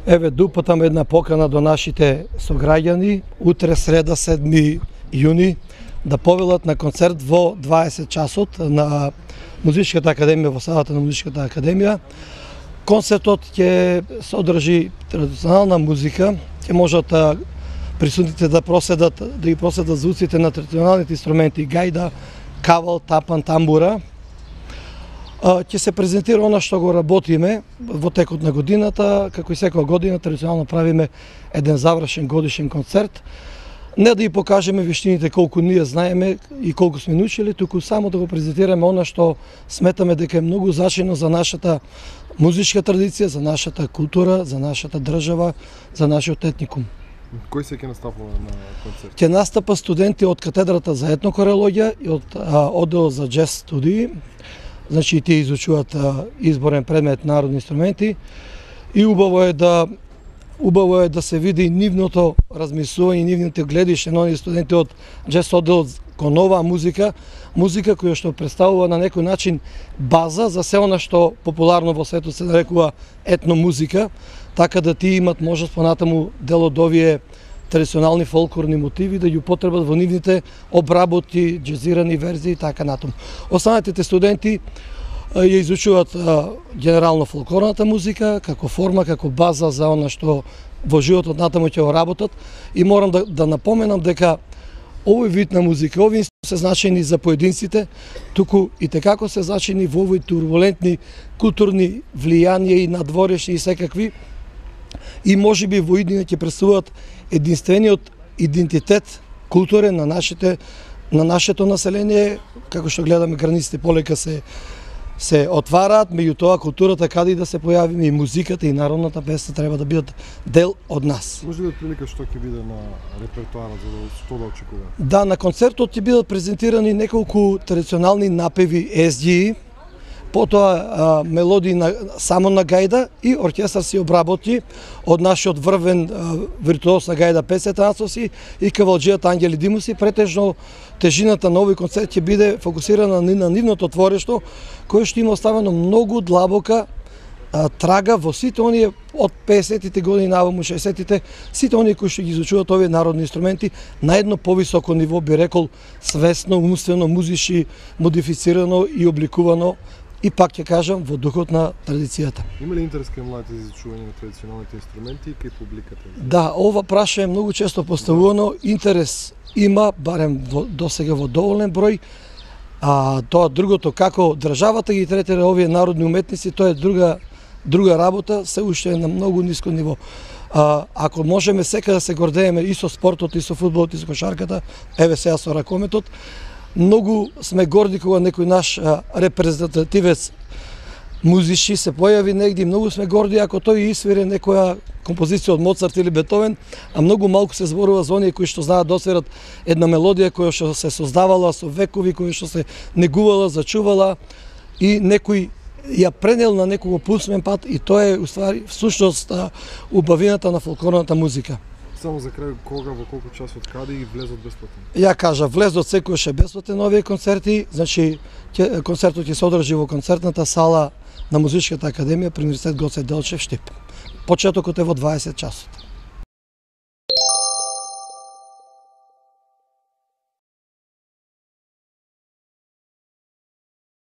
Еве, дупатам една покана до нашите сограѓани, утре среда 7 јуни, да повелат на концерт во 20 часот на Музичката академија, во салата на Музичката академија. Концертот ќе содржи традиционална музика, ќе можат присутните да ги проследат звуците на традиционалните инструменти гајда, кавал, тапан, тамбура. Ќе се презентира она што го работиме во текот на годината, како и секоја година традиционално правиме еден завршен годишен концерт. Не да ја покажеме вештините колку ние знаеме и колку сме научили, туку само да го презентираме она што сметаме дека е многу значајно за нашата музичка традиција, за нашата култура, за нашата држава, за нашиот етникум. Кој се ќе настапува на концерт? Ќе настапа студенти од катедрата за етнокорелогија и од оддел за джез студии. Значи тие изучуваат изборен предмет народни инструменти и убаво е да се види нивното размислување, нивните гледиште на оние студенти од джез оддел кон оваа музика која што представува на некој начин база за се она што популарно во светот се нарекува етномузика, така да тие имат можност понатаму дел од овие традиционални фолклорни мотиви да ја употребат во нивните обработи, джезирани верзии и така натаму. Останатите студенти ја изучуваат генерално фолклорната музика како форма, како база за она што во животот натаму ќе го работат, и морам да напоменам дека овој вид на музика, овие се значајни за поединците, туку и текако се значајни во овој турбулентни културни влијанија и надворешни и секакви, и можеби во иднина ќе представуваат единствениот идентитет културен на нашето население, како што гледаме границите полека се отвараат, меѓутоа културата каде и да се појавиме, и музиката и народната песна треба да бидат дел од нас. Може да прилика што ќе биде на репертоарот, за што да очекува? Да, на концертот ќе бидат презентирани неколку традиционални напеви езѓи, потоа мелодии само на гајда и оркестар се обработи од нашиот врвен виртуоз на гајда Пеце Танцовски и кавалџијата Ангели Димовски. Претежно тежината на овој концерт ќе биде фокусирана на нивното творишто, кое што има оставено многу длабока трага во сите оние од 50-тите години наваму 60-тите, сите оние кои што ги изучуваат овие народни инструменти на едно повисоко ниво, би рекол, свесно, умствено, музички, модифицирано и обликувано, и пак ќе кажам, во духот на традицијата. Има ли интерес кај младите за изучување на традиционалните инструменти и кај публиката? Да, ова праша е многу често поставувано. Интерес има, барем досега во доволен број. Тоа другото, како државата ги третира овие народни уметници, тоа е друга работа, се уште е на многу ниско ниво. Ако можеме сека да се гордееме и со спортот, и со фудбалот, и со кошарката, еве сега со ракометот, многу сме горди кога некој наш репрезентативец музичи се појави негде, многу сме горди ако тој исвири некоја композиција од Моцарт или Бетовен, а многу малку се зборува за оние кои што знаат да освират една мелодија која што се создавала со векови, која што се негувала, зачувала и некој ја пренел на некого пусмен пат, и тоа е уствари всушност убавината на фолклорната музика. Само за крај, кога, во колку часот, каде и влезот бесплатен? Ја кажа, влезот секојаш е бесплатен на овие концерти, значи концертот ќе се одржи во концертната сала на Музичката академија при Универзитет Гоце Делчев, Штип. Почетокот е во 20 часот.